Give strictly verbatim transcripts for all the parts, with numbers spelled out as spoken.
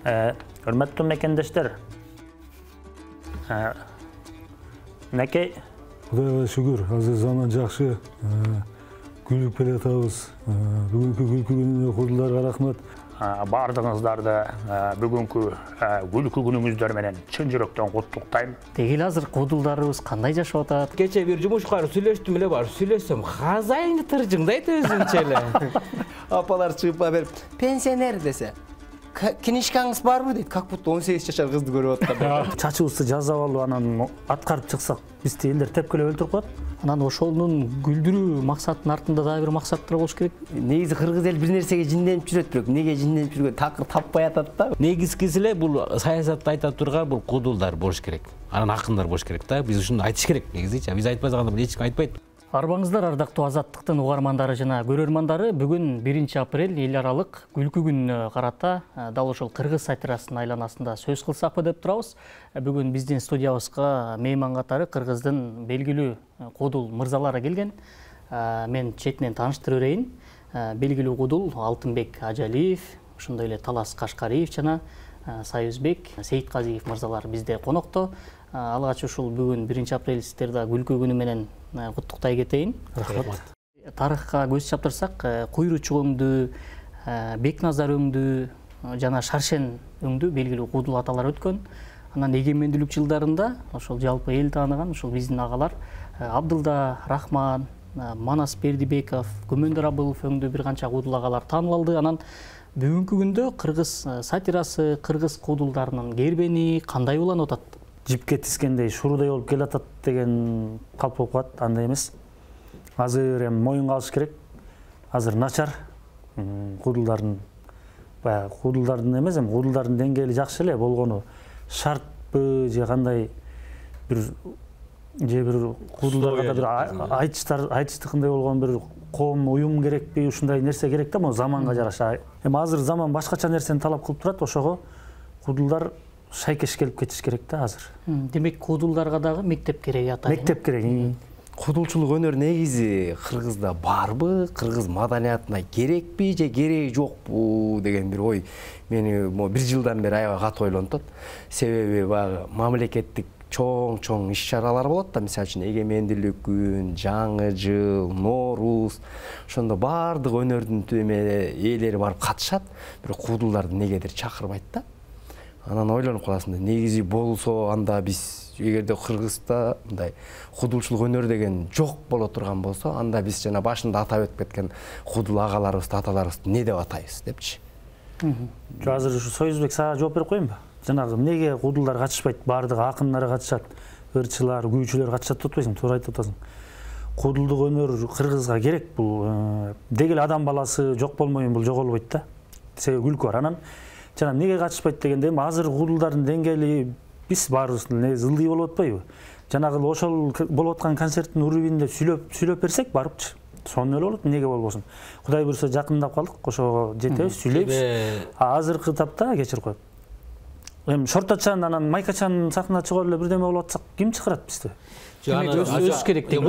Hürmetli mekendештер. Неке? Кудайга шүгүр, азыр заман жакшы. Күлүп келе атабыз. Бүгүнкү күлкү күнүнө кудулдарга рахмат. Бардыгыңыздарды бүгүнкү күлкү күнүңүздөр менен чын жүрөктөн куттуктайм. Дегил азыр кудулдарыбыз кандай жашап атат? Кече бир жумушкар сүйлөштүм эле, бар сүйлөсөм, казайны тыржыңдайт өзүнчө эле. Апалар чыгып берип, пенсионер десе, книжкаңыз барбы дейт, как будто он сегиз жашар кызды көрүп аткан. Чачыбызды жазап алып, анан аткарып чыксак, бизди элдер тепкилеп өлтүрүп коет. Анан ошонун күлдүрүү максатынын артында дагы бир максаттар болуш керек. Негизи кыргыз эл бир нерсеге жинденип жүрөт, бирок неге жинденип жүргөн такыр таппай атат да. Негизгиси эле бул саясатты айта турган бул кудулдар болуш керек. Анан акындар болуш керек да. Биз ушуну айтыш керек негизичи. Биз айтпай калганда эч ким айтпайт. Арбаңыздар, ардактуу Азаттыктын угармандары жана көрөрмандары, бүгүн биринчи апрель эл аралык күлкү күнүнө карата дал ошол кыргыз сатирасынын айланасында сөз кылсакпы деп турабыз. Бүгүн биздин студиябызга мейман катары кыргыздын белгилүү кудул мырзалары келген. Мен четинен тааныштырып берейин. Белгилүү кудул Алтынбек Ажалиев, ошондой эле Талас Кашкариев жана Союзбек Сейитказиев мырзалар бизде конокто. Алгач ушул бүгүн биринчи апрель сиздерди күлкү күнү менен куттуктай кетейин. Рахмат. Тарыхка көз чаптырсак, Куйручук өңдү, Бекназар өңдү жана Шаршен өңдү белгилүү кудул аталар өткөн. Анан эгемендүүлүк жылдарында ошол жалпы эл тааныган ошол биздин агалар Абдылда Рахман, Манас Бердибеков, Көмөндөр Абылов өңдү бир канча кудул агалар таанылалды. Анан бүгүнкү күндө кыргыз сатирасы, кыргыз кудулдарынын кербени кандай уланып атат? Жипке тискендей шуруудай болуп келатат деген калп болуп калат, андай эмес. Азыр эми моюнга алыш керек. Азыр начар. Кудулдардын баягы кудулдардын эмес, эми кудулдардын деңгээли жакшы эле болгону шартпы же кандай бир же бир кудулдарга да бир айтыштар, айтыштыкындай болгон бир коом уюм керекпи, ушундай нерсе керек да, могу заманга жараша. Эми азыр заман башкача нерсени талап кылып турат, ошого кудулдар шайкеш келип кетиш керек да азыр. Демек кудулдарга дагы мектеп керек атайын. Мектеп керек. Кудулчулук өнөр негизи кыргызда барбы, кыргыз маданиятына керекпи же кереги жокпу деген бир ой мени могу бир жылдан бери аябай катуу ойлонтот. Себеби баягы мамлекеттик чоң-чоң иш-чаралар болот да, мисалы үчүн эгемендүүлүк күн, жаңы жыл, Нооруз, ошондо баардык өнөрдүн ээлери барып катышат, бирок кудулдарды негедир чакырбайт да. Анан ойлонуп каласың да, негизи болсо анда биз эгерде Кыргызда мындай кудулчулук өнөр деген жок боло турган болсо, анда биз жана башында атап өтүп кеткен кудул агаларыбызды, аталарыбызды не деп атайбыз депчи. Жок, азыр ушу Союзбек сага жооп берип коеюнбу? Жанагы эмнеге кудулдар катышпайт? Баардыгы акындар катышат, ырчылар, күүчүлөр катышат деп атпайсың? Туура айтып атасың. Кудулдук өнөр Кыргызга керек. Бул дегеле адам баласы жок болмойюн, бул жоголбойт да. Себеби күлкү бар. Анан жана эмнеге катышпайт дегенде, азыр кудулдардын деңгээли биз баарыбыздын негизи ылдый болуп атпайбы? Жанагы ошол болуп аткан концерттин урубинде сүйлөп сүйлөп берсек барыпчы. Сонун эле болот, эмнеге болбосун? Кудай буйрса жакындап калдык, ошого жетебиз, сүйлөйбүз. Азыркы тапта кечирип коет. Эми Шортачан анан Майкачан сахнага чыгып эле бирдеме болуп атсак, ким чыгарат бизди? Өсүш керек деген.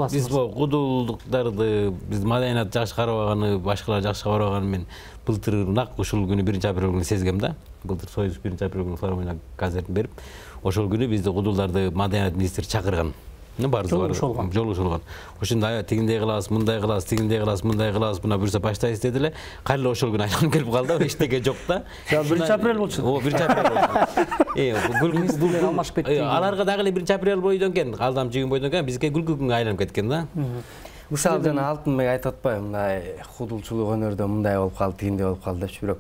Биз бул кудулдуктарды, биз маданият жакшы карабаганы, башкалар жакшы карабаганы мен былтыр нак ушул күнү биринчи апрель күнү сезгем да. Былтыр Союз биринчи апрель күнү форумуна концертин берип, ошол күнү бизди кудулдарды маданият министри чакырган. Жолугушулган. Ошондо тигиндей кылабыз, мындай кылабыз, тигиндей кылабыз, мындай кылабыз, мына буюрса баштайбыз деди эле. Кайра ошол күнү айланып келип калды, эчтеке жок да. биринчи апрель болчу. О, биринчи апрель болчу. Э, бул алмашып кетти. Аларга дагы эле биринчи апрель бойдон экен, алдам жигин бойдон экен, бизге күлкү күнгө айланып кеткен да. Мисалы жана Алтынбек айтып атпайбы, мындай кудулчулук өнөрдө мындай болуп калды, тигиндей болуп калды депчи, бирок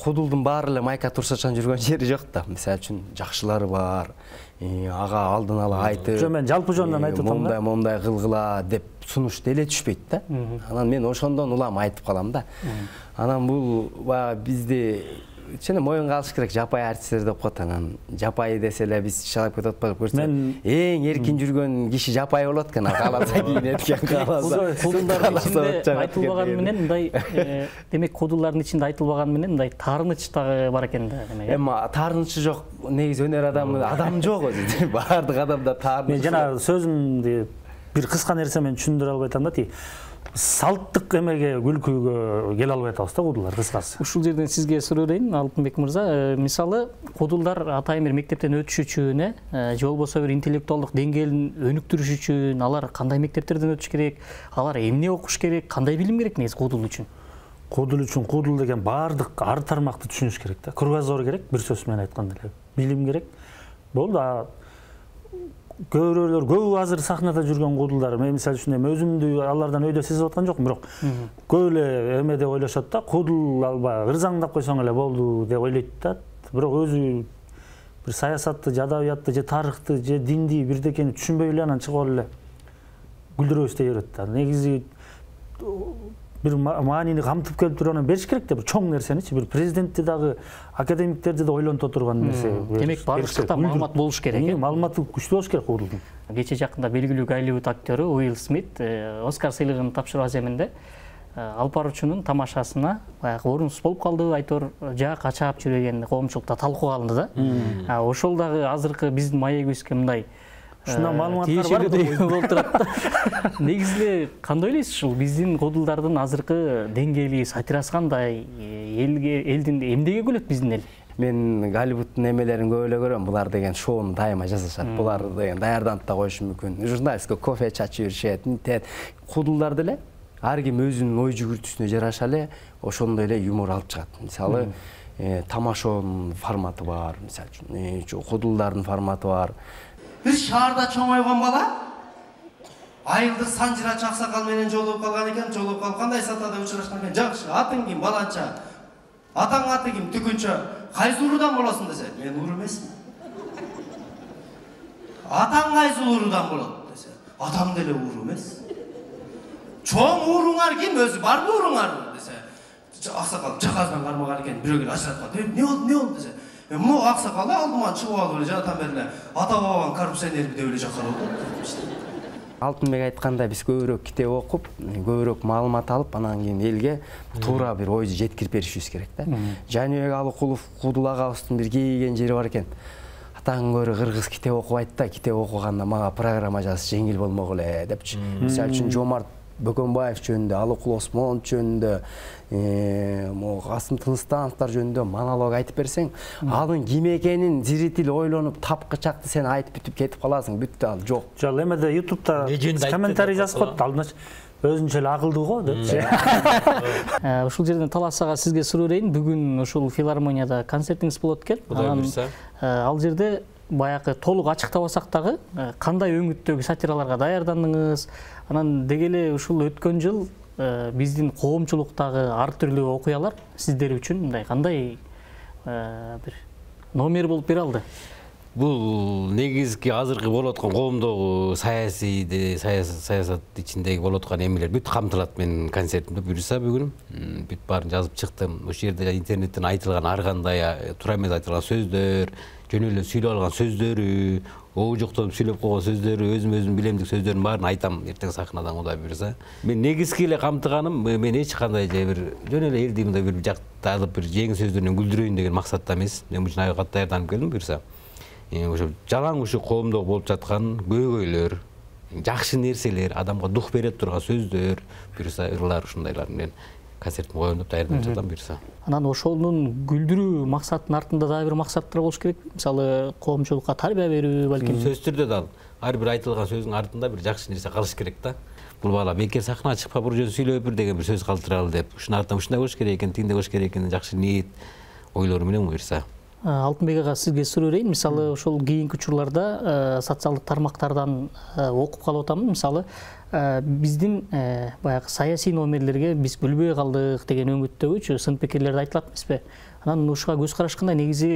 кудулдун баары эле майка турсачан жүргөн жери жок да. Мисалы үчүн жакшылары бар. Ага алдын ала айтып, жок, мен жалпы жөнүндөн айтып атам да. Мондай мондай кылгыла деп сунуш деле түшпөйт да. Анан мен ошондон улам айтып калам да. Анан бул баягы бизди чын моюнга алыш керек, жапай артисттер деп коет. Анан жапай десе эле биз шалап кетип атпайбы? Көрсө эң эркин жүргөн киши жапай болот экен, кааласа кийинет экен, кааласа. Кудулдардын ичинде айтылбаганы менен мындай, демек кудулдардын ичинде айтылбаганы менен мындай таарыныч дагы бар экен да. Эми таарынычы жок, негизи өнөр адамы адам жок өзү. Баардык адамда таарыныч. Мен жана сөзүмдү бир кыска нерсе менен түшүндүрө албай атам да. салттык эмеге күлкүгө келе албай атабыз да куудулдар кыскасы. Ушул жерден сизге суроо берейин, Алтынбек мырза. Мисалы, куудулдар атайын бир мектептен өтүш үчүн, э, же болбосо бир интеллектуалдык деңгээлин өнүктүрүш үчүн алар кандай мектептерден өтүш керек, алар эмне окуш керек, кандай билим керек негизи куудул үчүн? Куудул үчүн куудул деген баардык ар тармакты түшүнүш керек да. Кругозор керек, бир сөз менен айтканда эле. Билим керек. Болду. Көбүрөлөр көбү азыр сахнада жүргөн куудулдар, мен мисалы үчүн эми өзүмдү алардан өйдө сезип аткан жокмун, бирок көп эле эме деп ойлошот да, куудул албай ырзаңдап койсоң эле болду деп ойлойт да. Бирок өзү бир саясатты, же адабиятты, же тарыхты, же динди бирдекени түшүнбөй эле анан чыгып эле гүлдүрөбүз дей берет да. Негизи бир маанини камтып келип туруп анан бериш керек да, бир чоң нерсеничи, бир президентти дагы, академиктерди да ойлонто турган нерсе. Демек бардыкта маалымат болуш керек э? Маалыматы күчтүү болуш керек куудулдун. Кече жакында белгилүү Голливуд актёру Уилл Смит Оскар сыйлыгын тапшыруу аземинде алып баруучунун тамашасына баягы орунсуз болуп калды, айтор жаа качап жүргөн коомчулукта талкууга алынды да. Ошол дагы азыркы биздин маегибизге мындай ушундай маалыматтар бар болуп турат. Негизи кандай ойлойсуз ушул биздин куудулдардын азыркы деңгээли, сатирасы кандай, элге элдин эмнеге күлөт биздин эл? Мен Голливудтун эмелерин көп эле көрөм. Булар деген шоуну дайыма жасашат. Булар деген даярданып да коюшу мүмкүн. Журналистке кофе чачып жүрүшөт. Мынтет куудулдар деле ар ким өзүнүн ой жүгүртүүсүнө жараша эле ошондой эле юмор алып чыгат. Мисалы, тамашонун форматы бар, мисалы үчүн куудулдардын форматы бар. Бир шаарда чоңойгон бала айылдык санжырач аксакал менен жолугуп калган экен. Жолугуп калып кандай сатада учурашкан экен. Жакшы, атың ким, баланча? Атаң аты ким, түкүнчө? Кайсы уруудан болосуң десе, мен уруу эмесмин. Атаң кайсы уруудан болот десе, атам деле уруу эмес. Чоң урууңар ким, өзү барбы урууңар десе, аксакал жаказдан кармаган экен. Бирөө келип ажыратып калды. Эмне болду, эмне болду десе, Мо аксакал алдыман чыгып алып эле жатам бериле. Ата бабам коррупционер деп эле жаккар болду. Алтынбек айткандай биз көбүрөөк китеп окуп, көбүрөөк маалымат алып, анан кийин элге туура бир ойду жеткирип беришибиз керек да. Жаныбек Алыкулов Куудул агабыздын бир кейген жери бар экен. Атаң көрө кыргыз китеп окубайт да, китеп окуганда мага программа жазыш жеңил болмок эле депчи. Мисалы үчүн Жомарт Бөкөнбаев жөнүндө, Алыкул Осмонов жөнүндө, мо Касым Тыныстановдор жөнүндө монолог айтып берсең, анын ким экенин зритель ойлонуп тапкычакты сен айтып бүтүп кетип каласың, бүттү ал жок. Жок, эмеде ютубта комментарий жазып коет, алдынач өзүнчө эле акылдуу го депчи. Ушул жерден Талас ага сизге суроо берейин. Бүгүн ушул филармонияда концертиңиз болот экен. Ал жерде баягы толук ачыктабасак дагы кандай өңүттөгү сатираларга даярдандыңыз? Анан деги эле ушул өткөн жыл биздин коомчулуктагы ар түрлүү окуялар сиздер үчүн мындай кандай бир номер болуп бере алды? Бул негизги азыркы болуп аткан коомдогу саясий саясат ичиндеги болуп аткан эмелер бүт камтылат менин концертимде буюрса бүгүн. Бүт баарын жазып чыктым. Ошол жерде интернеттен айтылган ар кандай туура эмес айтылган сөздөр, жөн эле сүйлөп алган сөздөрү, оожуктонуп сүйлөп койгон сөздөрү, өзүм өзүм билемдик сөздөрдүн баарын айтам эртең сахнадан Кудай буйрса. Мен негизги эле камтыганым мен эч кандай же бир жөн эле элди мындай бир жакта алып бир жеңил сөздөр менен күлдүрөйүн деген максатта эмес. Мен бул үчүн кат даярданып келдим буйрса. Ошо жалаң ушу коомдо болуп жаткан көйгөйлөр, жакшы нерселер, адамга дух бере турган сөздөр, буюрса ырлар ушундайлар менен концертим коеюн деп даярданып жатам буюрса. Анан ошонун күлдүрүү максатынын артында дагы бир максаттар болуш керек. Мисалы, коомчулукка тарбия берүү, балким. Сөз түрдө да ар бир айтылган сөздүн артында бир жакшы нерсе калыш керек да. Бул бала бекер сахнага чыкпа, бир жөн сүйлөп бир деген бир сөз калтыралы деп, ушунун артынан ушундай болуш керек экен, тигиндей болуш керек экен, жакшы ниет ойлору менен буюрса. Алтынбек ага сизге суроо берейин. Мисалы, ошол кийинки учурларда социалдык тармактардан окуп калып атам. Мисалы, биздин баягы саясий номерлерге биз күлбөй калдык деген өңүттөгүчү сын пикирлерди айтылат эмеспи? Анан ушуга көз караш кандай? Негизи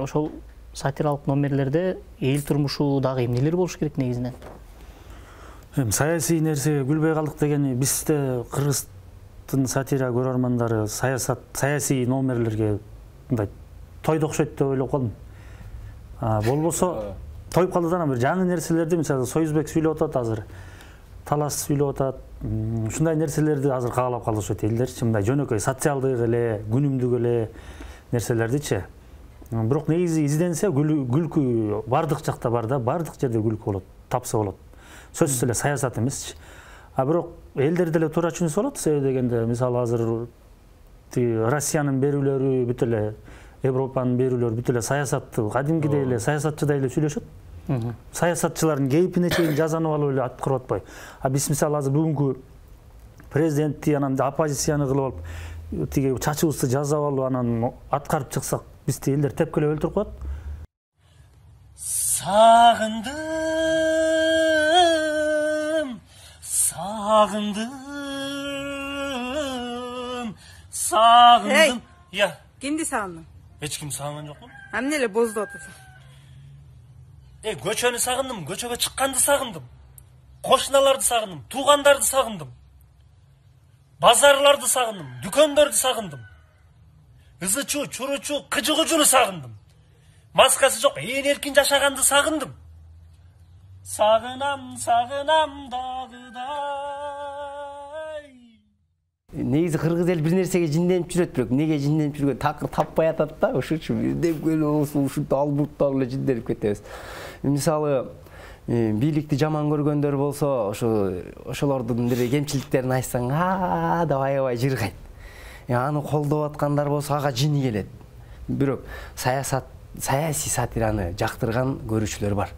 ошол сатиралык номерлерде эл турмушу дагы эмнелер болуш керек негизинен? Эми саясий нерсеге күлбөй калдык дегени бизде кыргыздын сатира көрөрмандары саясат, саясий номерлерге мындай тойду окшойт деп ойлоп калдым. Болбосо тоюп калды да бир жаңы нерселерди, мисалы Союзбек сүйлөп атат азыр, Талас сүйлөп атат. Ушундай нерселерди азыр каалап калышат элдерчи, мындай жөнөкөй социалдык эле, күнүмдүк эле нерселердичи. Бирок негизи изденсе күлкү бардык жакта бар да, бардык жерде күлкү болот, тапса болот. Сөзсүз эле саясат эмесчи. А бирок элдер деле туура түшүнсө болот. Себеби дегенде мисалы азыр Россиянын берүүлөрү бүт эле Европанын берүүлөрү бүт эле саясатты кадимкидей эле саясатчыдай эле сүйлөшөт. Саясатчылардын кейпине чейин жазанып алып эле аткарып атпайбы. А биз мисалы азыр бүгүнкү президентти анан оппозицияны кылып алып тиги чачыбызды жазап алып анан аткарып чыксак, бизди элдер тепкелеп өлтүрүп коет. Сагындым, сагындым, сагындым. Я. Кимди сагындың? Эч ким сагынган жокмун. Эмне эле боздоп атасың? Э, көчөнү сагындым, көчөгө чыкканды сагындым. Кошуналарды сагындым, туугандарды сагындым. Базарларды сагындым, дүкөндөрдү сагындым. Ызычу, чуручу, кыжыгучуну сагындым. Маскасы жок, ээн эркин жашаганды сагындым. Сагынам, сагынам дагыдай. Негизи кыргыз эл бир нерсеге жинденип жүрөт, бирок эмнеге жинденип жүргөн такыр таппай атат да, ошучу бирдеп келип ушинтип албурттап эле жинденип кетебиз. Мисалы, бийликти жаман көргөндөр болсо, ошо ошолордун бир кемчиликтерин айтсаң, а деп аябай жыргайт. Аны колдоп аткандар болсо ага жини келет. Бирок саясат саясий сатираны жактырган көрүүчүлөр бар.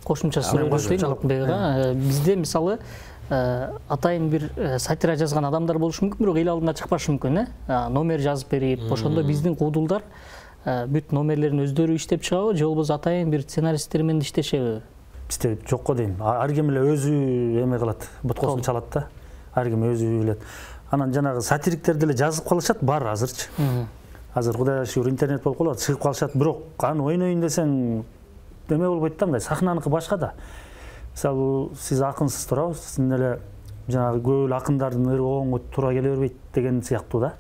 Кошумча суроо берейин Алтынбек. Бизде мисалы атайын бир сатира жазган адамдар болушу мүмкүн, бирок эл алдына чыкпашы мүмкүн, э? Номер жазып берип, ошондо биздин куудулдар бүт номерлерин өздөрү иштеп чыгабы, же болбосо атайын бир сценаристтер менен иштешеби? Бизде жокко дейм. Ар ким эле өзү эме кылат, боткосун чалат да. Ар ким өзү билет. Анан жанагы сатириктер деле жазып калышат, бар азырчы. Азыр Кудайга шүгүр интернет болуп калат, чыгып калышат, бирок аны ойнойн десең эме болбойт да, мындай сахнаныкы башка да. Мисалы, сиз акынсыз туурабы? Сиздин эле жанагы көп эле акындардын оңго туура келе бербейт деген сыяктуу да.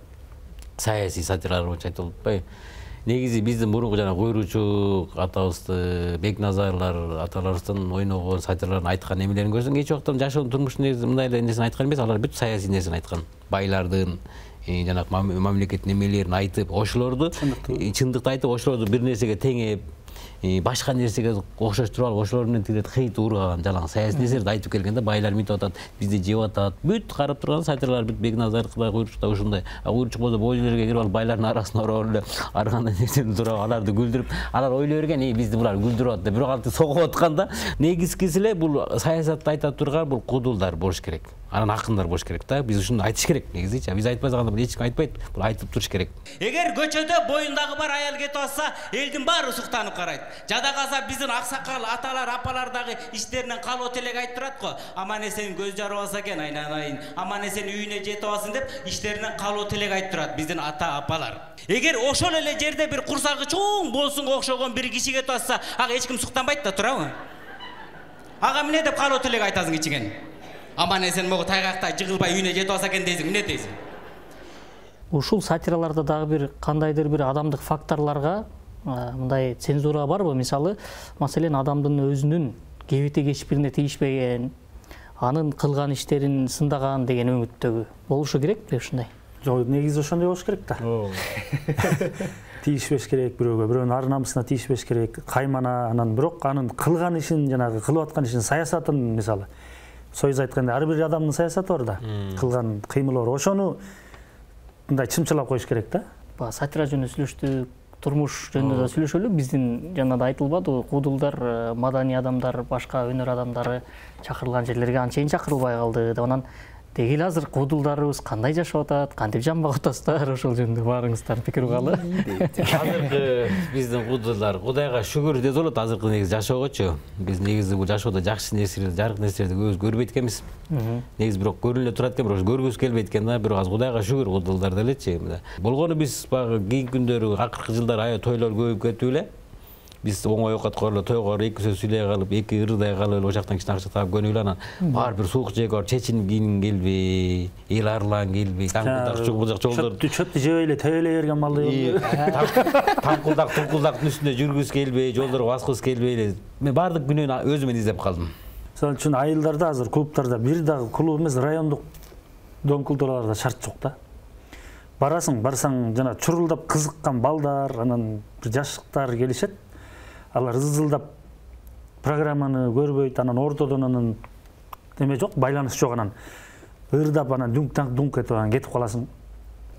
Саясий сатиралар боюнча айтылып атпайбы? Негизи биздин мурунку жана Куйруучу атабызды, Бекназарлар аталарыбыздын ойногон сатираларын айткан эмелерин көрсөң, эч убакта жашоонун турмуштун негизи мындай эле нерсени айткан эмес, алар бүт саясий нерсени айткан. Байлардын жанагы мамлекеттин эмелерин айтып, ошолорду чындыкты айтып, ошолорду бир нерсеге теңеп, башка нерсеге окшоштуруп алып, ошолор менен тигилет хейт урган, жалаң саясий нерселерди айтып келген да, байлар мынтип атат, бизди жеп атат. Бүт карап турган сатиралар бүт Бекназардыкы, Куйруучукта ушундай. А Куйруучук болсо боз үйлөргө кирип алып, байлардын арасына ороп эле ар кандай нерсени туруп аларды күлдүрүп, алар ойлой берген, "Эй, бизди булар күлдүрүп атты", бирок алты согуп атканда, негизгиси эле бул саясатты айта турган бул куудулдар болуш керек. Анан акындар болуш керек да. Биз ушуну айтыш керек негизичи. Биз айтпай калганда бул эч ким айтпайт. Бул айтып туруш керек. Эгер көчөдө боюндагы бар аял кетип атса, элдин баары суктанып карайт. Жада калса биздин аксакал аталар, апалар дагы иштеринен калып элек айтып турат го. Аман эсен көз жарып алса экен, айланайын. Аман эсен үйүнө жетип алсын деп иштеринен калып элек айтып турат биздин ата апалар. Эгер ошол эле жерде бир курсагы чоң болсунга окшогон бир киши кетип атса, ага эч ким суктанбайт да, туурабы? Ага эмне деп калып элек айтасың ичиген? Аман эсен могу тайгакта жыгылбай үйүнө жетип алса экен дейсиң, эмне дейсиң? Ушул сатираларда дагы бир кандайдыр бир адамдык факторлорго мындай цензура барбы? Мисалы, маселен адамдын өзүнүн кебети кечпирине тийишпеген, анын кылган иштерин сындаган деген өңүттөгү болушу керек беле ушундай? Жок, негизи ошондой болуш керек да. Тийишпеш керек бирөөгө, бирөөнүн ар намысына тийишпеш керек, каймана, анан бирок анын кылган ишин, жанагы кылып аткан ишин, саясатын мисалы Союз айтканда ар бир адамдын саясаты бар да, кылган кыймылы бар. Ошону мындай чымчылап коюш керек да. Ба сатира жөнүндө сүйлөштүк, турмуш жөнүндө да сүйлөшөлү. Биздин жана да айтылбады, куудулдар, маданий адамдар, башка өнөр адамдары чакырылган жерлерге анчейин чакырылбай калды деп. Анан деги эле азыр куудулдарыбыз кандай жашап атат, кантип жамбак атасыздар, ошол жөнүндө баарыңыздардын пикири угалы. Азыркы биздин куудулдар Кудайга шүгүр десе болот, азыркы негизи жашоогочу. Биз негизи бул жашоодо жакшы нерселерди, жарык нерселерди көбүз көрбөйт экенбиз. Негизи бирок көрүнө турат экен, бирок көргүбүз келбейт экен да. Бирок азыр Кудайга шүгүр куудулдар делечи. Болгону биз баягы кийинки күндөрү, акыркы жылдары аябай тойлор көбөйүп кетип эле. Биз оңой окат корло тойго эки сөз сүйлөй калып, эки ырдай калып, ошол жактан кичине акча таап көнүп эле анан баары бир суук жайга барып чечинип кийингин келбей, эл арлан келбей, таңкылдак чугулдак жолдор чөптү жебей эле тебелей берген малды таңкылдак тумкулдактын үстүндө жүргүс келбей, жолдорго баскыбыз келбей эле. Мен баардык күнөөнү өзүмөн издеп калдым. Мисалы үчүн айылдарда азыр клубтарда бир дагы клуб эмес, райондук дом культураларда шарт жок да. Барасың, барсаң жана чурулдап кызыккан балдар, анан бир жаштыктар келишет. Алар ызылдап программаны көрбөйт, анан ортодон анан неме жок, байланыш жок, анан ырдап анан дүңк-таңк дүңк этип анан кетип каласың.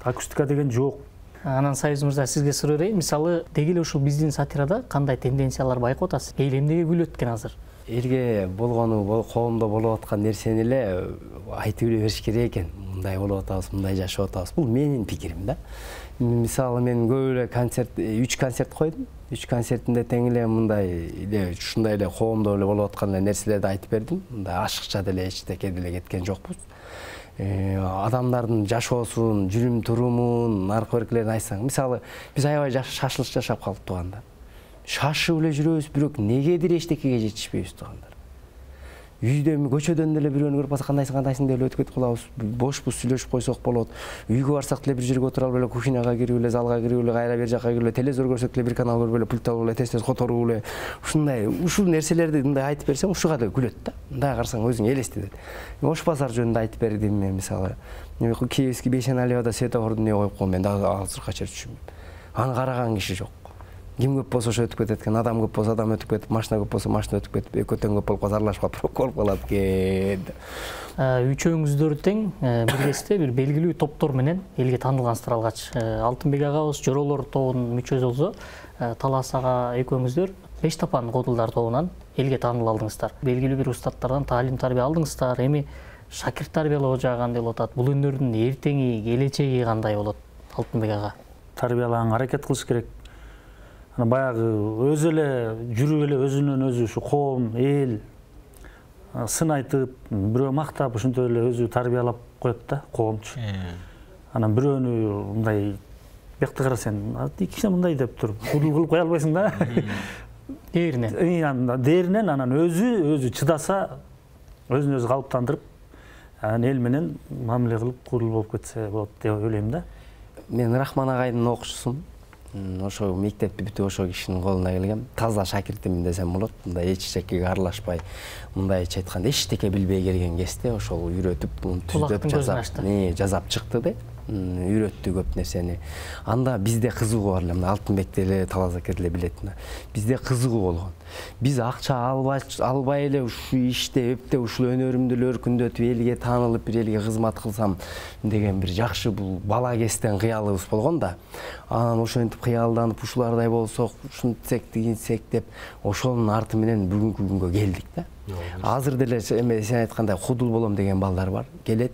Акустика деген жок. Анан Союз мырза, сизге суроо берейин. Мисалы, деги эле ушул биздин сатирада кандай тенденциялар байкап атасыз? Эл эмнеге күлөт экен азыр? Элге болгону, коомдо болуп аткан нерсени эле айтып эле бериш керек экен. Мындай болуп атабыз, мындай жашап атабыз. Бул менин пикирим да. Мисалы, мен көп эле концерт, үч концерт койдум. Үч концертинде тең эле мындай эле ушундай эле коомдо эле болуп аткан эле нерселерди айтып бердим. Мындай ашыкча деле эчтеке деле кеткен жокпуз. Адамдардын жашоосун, жүрүм турумун, аркы беркилерин айтсаң, мисалы, биз аябай шашылыш жашап калып турганда. Шашып эле жүрөбүз, бирок негедир эчтекеге жетишпейбиз тургандар. Үйдө, көчөдөн деле бирөөнү көрүп калсак, кандайсың, кандайсың деп өтүп кетип калабыз. Бошпуз, сүйлөшүп койсок болот. Үйгө барсак деле бир жерге отуруп алып эле кухняга кирип эле, залга кирип эле, кайра бер жака кирип эле, телевизор көрсөк деле бир канал көрүп эле, пульт алып эле, тез-тез которуп эле. Ушундай, ушул нерселерди мындай айтып берсең, ушуга да күлөт да. Мындай карасаң өзүң элестетет. Ош базар жөнүндө айтып бердим мен, мисалы. Киевский Бейшеналиевада светофорду эмне коюп койгон, мен дагы азыркыга чейин түшүнбөйм. Аны караган киши жок. Ким көп болсо ошо өтүп кетет экен, адам көп болсо адам өтүп кетип, машина көп болсо машина өтүп кетип, экөө тең көп болуп калса аралашып калып болуп калат экен. Үчөөңүздөр тең биргесте бир белгилүү топтор менен элге таанылгансыздар алгач. Алтынбек агабыз Жоролор тобунун мүчөсү болсо, Талас ага экөөңүздөр Беш Тапан Кодулдар тобунан элге тааныл алдыңыздар. Белгилүү бир устаттардан таалим тарбия алдыңыздар. Эми шакирт тарбиялоо жагы кандай болуп атат? Бул өнөрдүн эртеңи, келечеги кандай болот, Алтынбек ага? Тарбиялаганга аракет кылыш керек. Баягы өзү эле жүрүп эле өзүнөн өзү ушу коом, эл сын айтып, бирөө мактап, ушинтип эле өзү тарбиялап коет да, коомчу. Анан бирөөнү мындай бекти кара сен, кичине мындай деп туруп, кудул кылып кое албайсың да. Дээринен. Дээринен анан өзү өзү чыдаса, өзүн өзү калыптандырып, анан эл менен мамиле кылып кудул болуп кетсе болот деп ойлойм да. Мен Рахман агайдын окуучусумун. Ошо мектепти бүтүп ошо кишинин колуна келгем. Таза шакиртимин десем болот. Мындай эч жекеге аралашпай, мындайча айтканда эчтеке билбей келген кезде ошол үйрөтүп, түздөп жазап, жазап чыкты да. Үйрөттү көп нерсени. Анда бизде кызыгуу бар эле, мына Алтынбек деле, Талас ака деле билет. Бизде кызыгуу болгон. Биз акча албай, албай эле ушу иште, эпте ушул өнөрүмдү өркүндөтүп, элге таанылып, бир элге кызмат кылсам деген бир жакшы бул бала кезден кыялыбыз болгон да. Анан ошентип кыялданып, ушулардай болсок, ушинтсек, тигинсек деп, ошонун арты менен бүгүнкү күнгө келдик да. Азыр деле эме сен айткандай кудул болом деген балдар бар. Келет,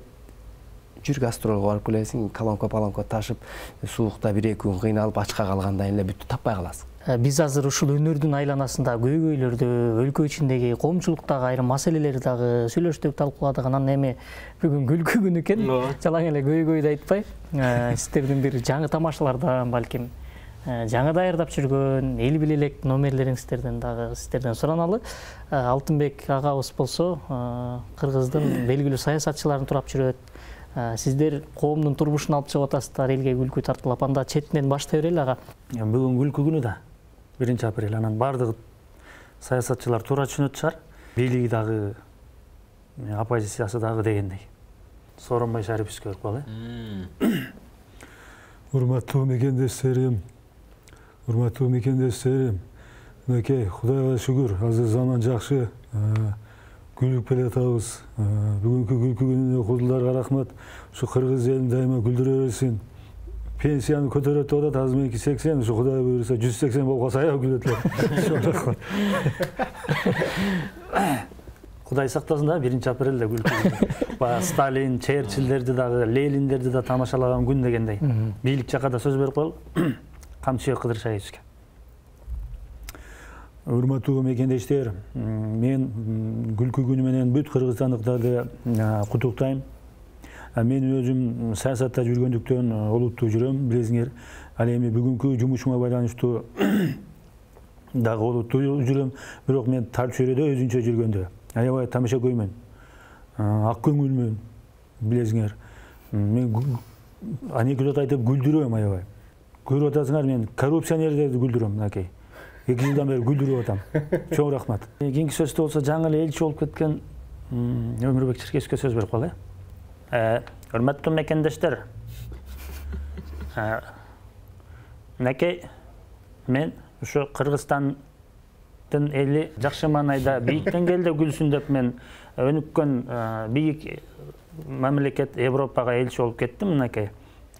жүр гастролго барып келесиң, колонка-палонка ташып, суукта бир-эки күн кыйналып, ачка калгандан эле бүт таппай каласың. Биз азыр ушул өнөрдүн айланасында көйгөйлөрдү, өлкө ичиндеги коомчулуктагы айрым маселелерди дагы сүйлөштүк, талкууладык. Анан эми бүгүн күлкү күнү экен, жалаң эле көйгөйдү айтпай, сиздердин бир жаңы тамашалардан, балким жаңы даярдап жүргөн эл биле элек номерлериңиздерден дагы сиздерден сураналы. Алтынбек агабыз болсо, Кыргыздын белгилүү саясатчыларын турап жүрөт. Сиздер коомдун турмушун алып чыгып атасыздар, элге күлкү тартуулап. Анда четинен баштай берели ага. Бүгүн күлкү күнү да, биринчи апрель. Анан бардыгы саясатчылар туура түшүнөт чыгар. Бийлиги дагы, оппозициясы дагы дегендей. Сооронбай Шариповичке көрүп кал, э? Урматтуу мекендештерим, урматтуу мекендештерим. Мынакей, Кудайга шүгүр, азыр заман жакшы. Күлүп келе атабыз. Бүгүнкү күлкү күнүнө кудулдарга рахмат. Ушу кыргыз элин дайыма күлдүрө берсин. Пенсияны көтөрөт деп атат, азыр меники сексен, ушу Кудай буйруса жүз сексен болуп калса аябай күлөт эле. Кудай сактасын да, биринчи апрелде күлкү. Баягы Сталин, Черчиллерди дагы, Лениндерди да тамашалаган күн дегендей. Бийлик жакка да сөз берип коелу. Камчыбек Кыдыршаевичке. Урматтуу мекендештер, мен күлкү күнү менен бүт кыргызстандыктарды куттуктайм. Мен өзүм саясатта жүргөндүктөн олуттуу жүрөм, билесиңер. Ал эми бүгүнкү жумушума байланыштуу дагы олуттуу жүрөм, бирок мен тар чөйрөдө өзүнчө жүргөндө аябай тамаша көймөн, ак көңүлмүн, билесиңер. Мен анекдот айтып күлдүрөм аябай. Көрүп атасыңар, мен коррупционердерди күлдүрөм, мынакей. Эки жылдан бери күлдүрүп атам. Чоң рахмат. Кийинки сөздө болсо жаңы эле элчи болуп кеткен Өмүрбек Черкесовке сөз берип калалы. Урматтуу мекендештер. Мынакей, мен ушу Кыргызстан мамлекеттин эли жакшы маанайда бийик деңгээлде күлсүн деп мен өнүккөн бийик мамлекет Европага элчи болуп кеттим мынакей.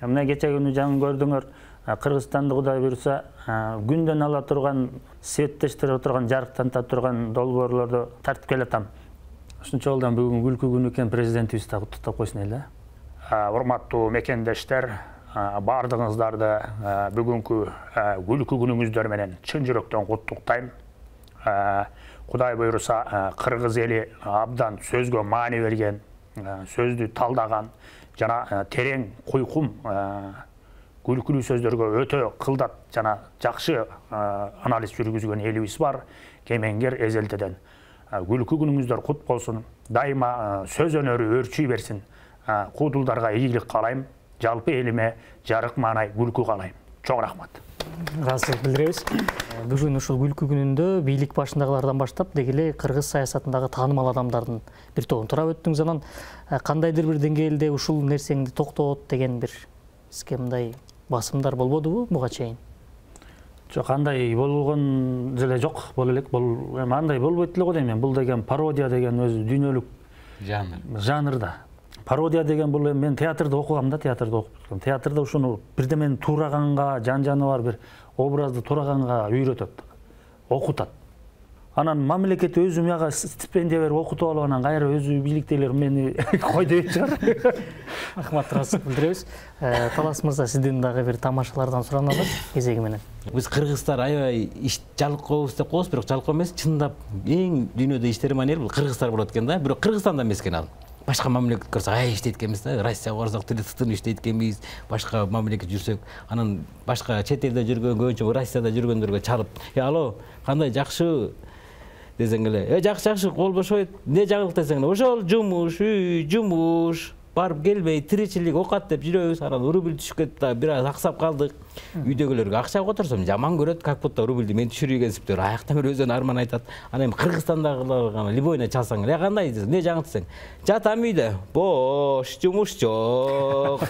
Мына кече күнү жаңы көрдүңөр, Кыргызстанды Кудай буйруса күндөн ала турган, светтештирип турган, жарыктанта турган долбоорлорду тартып келатам. Ушунча жолдон бүгүн күлкү күнү экен, президентибиз да куттуктап койсун эле. Урматтуу мекендештер, баардыгыңыздарды бүгүнкү күлкү күнүңүздөр менен чын жүрөктөн куттуктайм. Кудай буйруса кыргыз эли абдан сөзгө маани берген, сөздү талдаган жана терең куйкум күлкүлүү сөздөргө өтө кылдат жана жакшы анализ жүргүзгөн элибиз бар. Кемеңгер эзелтеден күлкү күнүңүздөр кут болсун. Дайыма сөз өнөрү өрчүй берсин. Куудулдарга ийгилик каалайм. Жалпы элиме жарык маанай күлкү каалайм. Чоң рахмат. Ыраазычылык билдиребиз. Бүгүн ушул күлкү күнүндө бийлик башындагылардан баштап деги эле кыргыз саясатындагы таанымал адамдардын бир тобун турап өттүңүз. Анан кандайдыр бир деңгээлде ушул нерсеңди токтот деген бир сизге мындай басымдар болбодубу буга чейин? Жок, андай болгон деле жок, боло элек. Бул эми андай болбойт эле го дейм мен. Бул деген пародия деген өзү дүйнөлүк жанр. Жанр да. Пародия деген бул эми мен театрда окугам да, театрда окуп өткөм. Театрда ушуну бирдемени туураганга, жан-жаны бар бир образды туураганга үйрөтөт, окутат. Анан мамлекет өзү мага стипендия берип окутуп алып, анан кайра өзү бийликтегилер мени кой деп чыгар. Рахмат, ыраазычылык билдиребиз. Талас мырза, сизден дагы бир тамашалардан сураналы кезеги менен. Биз кыргыздар аябай иш жалкообуз деп коебуз, бирок жалкоо эмес, чындап эң дүйнөдө иштери маанилүү бул кыргыздар болот экен да. Бирок Кыргызстанда эмес экен ал. Башка мамлекет көрсөк ай иштейт экенбиз да. Россияга барсак тытын иштейт экенбиз, башка мамлекет жүрсөк, анан башка чет элде жүргөн, көбүнчө Россияда жүргөндөргө чалып, "Э, алло, кандай жакшы?" десең эле, "Э, жакшы, жакшы, кол бошойт. Эмне жагылык?" десең эле, "Ошол жумуш, үй, жумуш, барып келбей, тиричилик, окат" деп жүрөбүз. Анан рубль түшүп кетти да, бир аз аксап калдык. Үйдөгүлөргө акча которсом жаман көрөт, как будто рубльди мен түшүргенсип деп аяктан бери өзүнүн арман айтат. Анан эми Кыргызстандагыларга любойна чалсаң эле, кандай десең, "Эмне жаңы?" десең, "Жатам үйдө, бош, жумуш жок.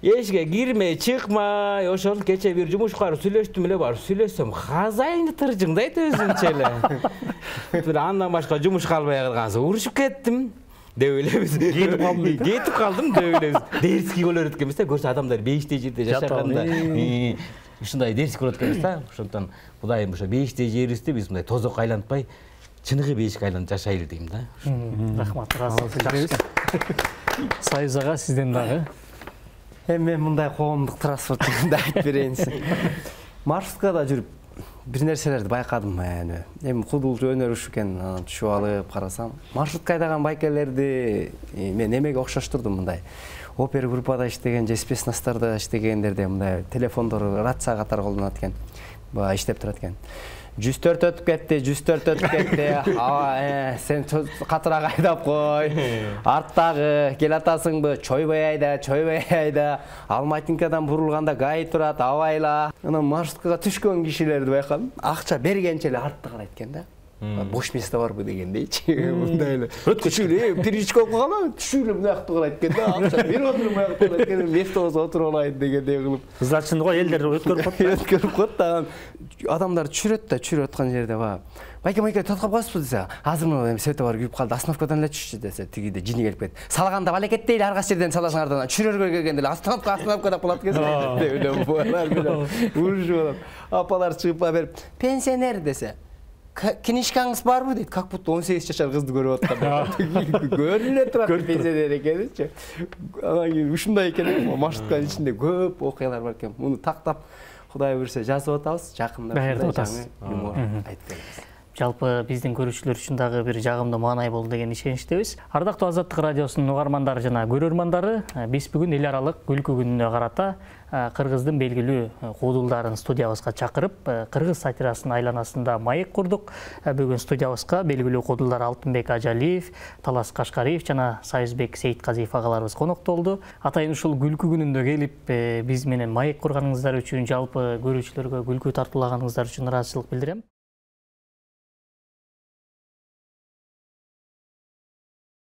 Эшикке кирмей, чыкмай, ошол кече бир жумушкар сүйлөштүм эле, барып сүйлөсөм, хазайны тыржыңдайт өзүнчө эле. Андан башка жумуш калбай калган соң урушуп кеттим." деп элебиз. Кетип калдым. Кетип калдым деп элебиз. Дерский болор экенбиз да, көрсө адамдар бейиштей жерде жашаганда. Ушундай дерский болот экенбиз да. Ошондон Кудайым ошо бейиштей жерибизди биз мындай тозок айлантпай, чыныгы бейишке айланып жашайлы дейм да. Рахмат, ыраазычылык билдиребиз. Союз ага, сизден дагы. Эми мен мындай коомдук транспорт жөнүндө айтып берейин. Маршруткада жүрүп бир нерселерди байкадым. Эми кудулчу өнөр ушу экен, анан түшүп алып карасам, маршрутка айдаган байкелерди мен эмеге окшоштурдум мындай. Опера группада иштеген же спецназдарда иштегендерде мындай телефондору рация катары колдонот экен. Баа иштеп турат экен. жүз төрт өтүп кетти, жүз төрт өтүп кетти. А, сен катыраак айдап кой. Арттагы келатасыңбы? Чойбой айда, чойбой айда. Алматинкадан бурулганда гай турат, абайла. Анан маршруткага түшкөн кишилерди байкадым. Акча бергенче эле артты карайт экен да. Бош место барбы дегендейчи. Мындай эле. Өткүчүлү, перичка окуган, түшүлүп мынакты карайт экен да. Акча берип отурмай карайт экен, место болсо отуруп алайын дегендей кылып. Значит, го элдер өткөрүп коет. Өткөрүп коет да. Адамдар түшүрөт да, түшүрүп аткан жерде ба. Байке, байке, токтоп калыпсыз десе, азыр мына света бар күйүп калды, остановкадан эле түшчү десе, тигиде жини келип кетти. Салганда балекет дейли, ар кайсы жерден саласыңардан, түшүрөргө келгенде эле остановка, остановка деп калат экен. Деп эле булар менен урушуп алат. Апалар чыгып берип, "Пенсионер" десе, "Книжкаңыз барбы?" дейт. Как будто он сегиз жашар кызды көрүп аткан. Көрүнө турат пенсионер экеничи. Анан кийин ушундай экен, маршрутканын ичинде көп окуялар бар экен. Муну тактап Кудай буйруса жазып атабыз, жакында ушундай юмор айтып беребиз. Жалпы биздин көрүүчүлөр үчүн дагы бир жагымдуу маанай болду деген ишеничтебиз. Ардактуу Азаттык радиосунун угармандары жана көрөрмандары, биз бүгүн эл аралык күлкү күнүнө карата Кыргыздын белгилүү куудулдарын студиябызга чакырып, кыргыз сатирасын айланасында маек курдук. Бүгүн студиябызга белгилүү куудулдар Алтынбек Ажалиев, Талас Кашкариев жана Союзбек Сейитказиев агаларыбыз коноктолду болду. Атайын ушул күлкү күнүндө келип, биз менен маек курганыңыздар үчүн, жалпы көрүүчүлөргө күлкү тартуулаганыңыздар үчүн ыраазычылык билдирем.